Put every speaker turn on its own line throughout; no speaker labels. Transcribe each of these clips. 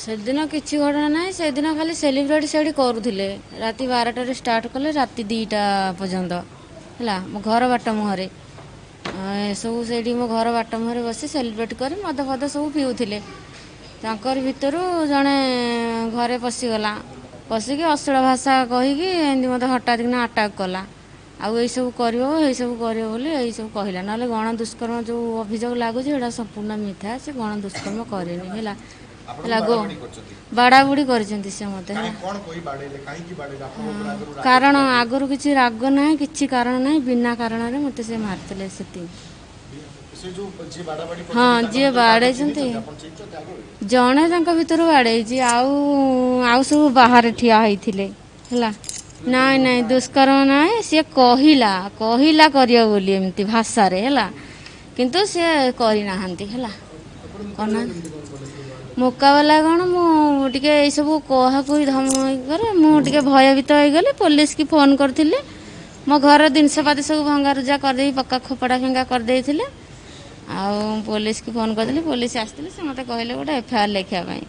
ସେଦିନ କିଛି ଘଟଣା ନାହିଁ। ସେଦିନ ଖାଲି ସେଲିବ୍ରେଟ୍ ସେଇଠି କରୁଥିଲେ। ରାତି 12ଟାରେ ଷ୍ଟାର୍ଟ କଲେ, ରାତି 2ଟା ପର୍ଯ୍ୟନ୍ତ ହେଲା। ମୋ ଘର ବାଟ ମୁହଁରେ ସବୁ ସେଇଠି ମୋ ଘର ବାଟ ମୁହଁରେ ବସି ସେଲିବ୍ରେଟ୍ କରି ମଦ ଫଦ ସବୁ ପିଉଥିଲେ। ତାଙ୍କର ଭିତରୁ ଜଣେ ଘରେ ପଶିଗଲା, ପଶିକି ଅଶ୍ଳୀଳ ଭାଷା କହିକି ଏମିତି ମୋତେ ହଠାତ୍ କିନା ଆଟାକ୍ କଲା। ଆଉ ଏଇସବୁ କରିବ, ଏଇସବୁ କରିବ ବୋଲି ଏଇସବୁ କହିଲା। ନହେଲେ ଗଣ ଦୁଷ୍କର୍ମ ଯେଉଁ ଅଭିଯୋଗ ଲାଗୁଛି ସେଇଟା ସମ୍ପୂର୍ଣ୍ଣ ମିଥ୍ୟା। ସେ ଗଣ ଦୁଷ୍କର୍ମ କରିନି। ହେଲା ହେଲା ଗୋ ବାଡ଼ାବୁଡ଼ି କରିଛନ୍ତି ସେ ମୋତେ। ହେଲା କାରଣ ଆଗରୁ କିଛି ରାଗ ନାହିଁ, କିଛି କାରଣ ନାହିଁ, ବିନା କାରଣରେ ମୋତେ ସେ ମାରିଥିଲେ ସେତିକି। ହଁ, ଯିଏ ବାଡ଼େଇଛନ୍ତି ଜଣେ ତାଙ୍କ ଭିତରୁ ବାଡ଼େଇଛି, ଆଉ ଆଉ ସବୁ ବାହାରେ ଠିଆ ହେଇଥିଲେ। ହେଲା ନାଇଁ ନାଇଁ, ଦୁଷ୍କର୍ମ ନାହିଁ। ସିଏ କହିଲା କହିଲା କରିବ ବୋଲି ଏମିତି ଭାଷାରେ, ହେଲା, କିନ୍ତୁ ସିଏ କରିନାହାନ୍ତି। ହେଲା କରିନାହାନ୍ତି। ମୁକାବିଲା କ'ଣ, ମୁଁ ଟିକେ ଏଇସବୁ କହାକୁହି ଧମକ କରେ, ମୁଁ ଟିକେ ଭୟଭୀତ ହେଇଗଲି। ପୋଲିସକି ଫୋନ୍ କରିଥିଲି। ମୋ ଘର ଜିନିଷପାତି ସବୁ ଭଙ୍ଗାରୁଜା କରିଦେଇ ପକା ଖୋପଡ଼ା ଫିଙ୍ଗା କରିଦେଇଥିଲେ। ଆଉ ପୋଲିସକି ଫୋନ୍ କରିଥିଲି, ପୋଲିସ ଆସିଥିଲେ। ସେ ମୋତେ କହିଲେ ଗୋଟେ ଏଫଆଇଆର୍ ଲେଖିବା ପାଇଁ।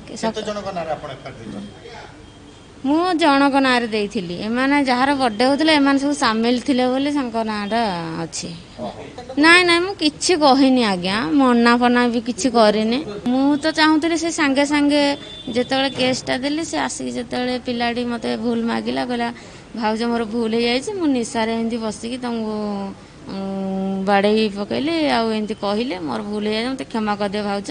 ମୁଁ ଜଣଙ୍କ ନାଁରେ ଦେଇଥିଲି। ଏମାନେ ଯାହାର ବର୍ଥଡେ ହେଉଥିଲା ଏମାନେ ସବୁ ସାମିଲ ଥିଲେ ବୋଲି ତାଙ୍କ ନାଁଟା ଅଛି। ନାଇଁ ନାଇଁ, ମୁଁ କିଛି କହିନି ଆଜ୍ଞା, ମନା ଫନା ବି କିଛି କରିନି। ମୁଁ ତ ଚାହୁଁଥିଲି ସେ ସାଙ୍ଗେ ସାଙ୍ଗେ ଯେତେବେଳେ କେସ୍ଟା ଦେଲି, ସେ ଆସିକି ଯେତେବେଳେ ପିଲାଟି ମୋତେ ଭୁଲ ମାଗିଲା, କହିଲା ଭାଉଜ ମୋର ଭୁଲ ହେଇଯାଇଛି, ମୁଁ ନିଶାରେ ଏମିତି ବସିକି ତମକୁ ବାଡ଼େଇ ପକେଇଲି, ଆଉ ଏମିତି କହିଲେ ମୋର ଭୁଲ ହେଇଯାଇଛି, ମୋତେ କ୍ଷମା କରିଦିଅ ଭାଉଜ।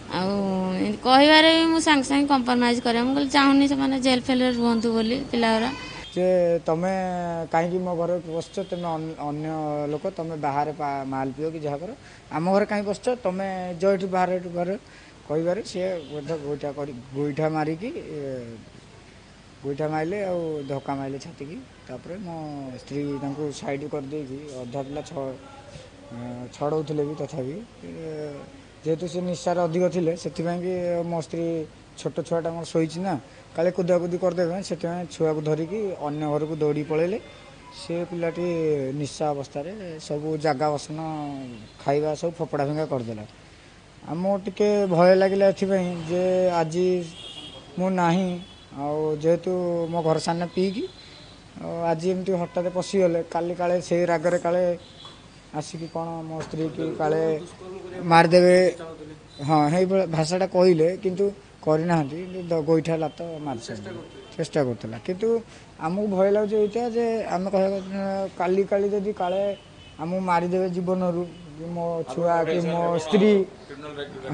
ଆଉ ଏମିତି କହିବାରେ ବି ମୁଁ ସାଙ୍ଗେ ସାଙ୍ଗେ କମ୍ପ୍ରମାଇଜ୍ କରିବା। ମୁଁ କହିଲି ଚାହୁଁନି ସେମାନେ ଜେଲ୍ ଫେଲ୍ରେ ରୁହନ୍ତୁ ବୋଲି ପିଲାଗୁରା।
ଯେ ତମେ କାହିଁକି ମୋ ଘରେ ବସିଛ? ତମେ ଅନ୍ୟ ଲୋକ, ତମେ ବାହାରେ ମାଲ ପିଅ କି ଯାହା କର, ଆମ ଘରେ କାହିଁ ବସିଛ? ତମେ ଯାଅ ଏଠୁ ବାହାରେ, ଏଠୁ ଘରେ କହିବାରେ ସିଏ ବୋଧେ ଗୋଇଠା କରି ଗୋଇଠା ମାରିକି ଗୋଇଠା ମାରିଲେ ଆଉ ଧକ୍କା ମାରିଲେ ଛାତିକି। ତାପରେ ମୋ ସ୍ତ୍ରୀ ତାଙ୍କୁ ସାଇଡ଼ କରିଦେଇକି ଅଧା ପିଲା ଛଡ଼ଉଥିଲେ ବି, ତଥାପି ଯେହେତୁ ସେ ନିଶାରେ ଅଧିକ ଥିଲେ, ସେଥିପାଇଁ କି ମୋ ସ୍ତ୍ରୀ ଛୋଟ ଛୁଆଟା ମୋର ଶୋଇଛି ନା, କାଳେ କୁଦାକୁଦି କରିଦେବେ, ସେଥିପାଇଁ ଛୁଆକୁ ଧରିକି ଅନ୍ୟ ଘରକୁ ଦୌଡ଼ି ପଳେଇଲେ। ସେ ପିଲାଟି ନିଶା ଅବସ୍ଥାରେ ସବୁ ଜାଗା ବସନ ଖାଇବା ସବୁ ଫୋପଡ଼ା ଫିଙ୍ଗା କରିଦେଲା। ଆମକୁ ଟିକେ ଭୟ ଲାଗିଲା ଏଥିପାଇଁ ଯେ ଆଜି ମୁଁ ନାହିଁ, ଆଉ ଯେହେତୁ ମୋ ଘର ସାମ୍ନା ପିଇକି ଆଉ ଆଜି ଏମିତି ହଠାତ୍ ପଶିଗଲେ, କାଲି କାଳେ ସେଇ ରାଗରେ କାଳେ ଆସିକି କ'ଣ ମୋ ସ୍ତ୍ରୀକି କାଳେ ମାରିଦେବେ। ହଁ, ସେଇଭଳିଆ ଭାଷାଟା କହିଲେ, କିନ୍ତୁ କରିନାହାନ୍ତି। ଗୋଇଠା ଲାତ ମାରିଛନ୍ତି, ଚେଷ୍ଟା କରୁଥିଲା। କିନ୍ତୁ ଆମକୁ ଭୟ ଲାଗୁଛି ଏଇଟା ଯେ ଆମେ କହିବା କାଲି କାଲି ଯଦି କାଳେ ଆମକୁ ମାରିଦେବେ ଜୀବନରୁ, ମୋ ଛୁଆ କି ମୋ ସ୍ତ୍ରୀ।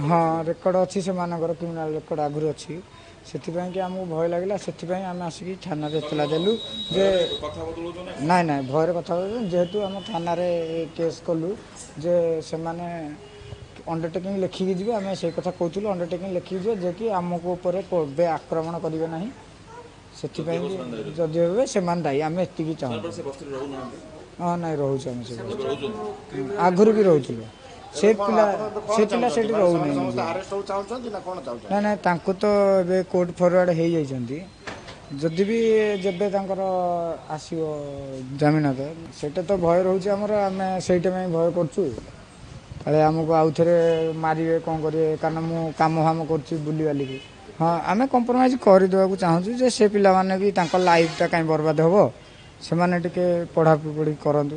ହଁ, ରେକର୍ଡ଼ ଅଛି ସେମାନଙ୍କର, କ୍ରିମିନାଲ ରେକର୍ଡ଼ ଆଗରୁ ଅଛି। ସେଥିପାଇଁ କି ଆମକୁ ଭୟ ଲାଗିଲା, ସେଥିପାଇଁ ଆମେ ଆସିକି ଥାନାରେ ଏତଲା ଦେଲୁ ଯେ ନାଇଁ ନାଇଁ, ଭୟରେ କଥା। ଯେହେତୁ ଆମ ଥାନାରେ କେସ୍ କଲୁ ଯେ ସେମାନେ ଅଣ୍ଡରଟେକିଂ ଲେଖିକି ଯିବେ, ଆମେ ସେଇ କଥା କହୁଥିଲୁ, ଅଣ୍ଡରଟେକିଂ ଲେଖିକି ଯିବେ ଯେ କି ଆମକୁ ଉପରେ କେବେ ଆକ୍ରମଣ କରିବେ ନାହିଁ। ସେଥିପାଇଁ ଯଦି ହେବେ ସେମାନେ ଦାୟୀ, ଆମେ ଏତିକି ଚାହୁଁଛୁ। ହଁ, ନାଇଁ, ରହୁଛୁ ଆମେ ସେ ଆଗରୁ ବି ରହୁଥିଲୁ। ସେ ପିଲା ସେଠି ରହୁନି। ନାଇଁ ନାଇଁ, ତାଙ୍କୁ ତ ଏବେ କୋର୍ଟ ଫରୱାର୍ଡ଼ ହେଇଯାଇଛନ୍ତି। ଯଦି ବି ଯେବେ ତାଙ୍କର ଆସିବ ଜାମିନ, ତ ସେଇଟା ତ ଭୟ ରହୁଛି ଆମର। ଆମେ ସେଇଟା ପାଇଁ ଭୟ କରୁଛୁ, କାଳେ ଆମକୁ ଆଉ ଥରେ ମାରିବେ କ'ଣ କରିବେ, କାରଣ ମୁଁ କାମ ଫାମ କରୁଛି ବୁଲିବାଲିକି। ହଁ, ଆମେ କମ୍ପ୍ରମାଇଜ୍ କରିଦେବାକୁ ଚାହୁଁଛୁ ଯେ ସେ ପିଲାମାନେ ବି ତାଙ୍କ ଲାଇଫ୍ଟା କାହିଁ ବର୍ବାଦ ହେବ, ସେମାନେ ଟିକେ ପଢ଼ାପଢ଼ି କରନ୍ତୁ।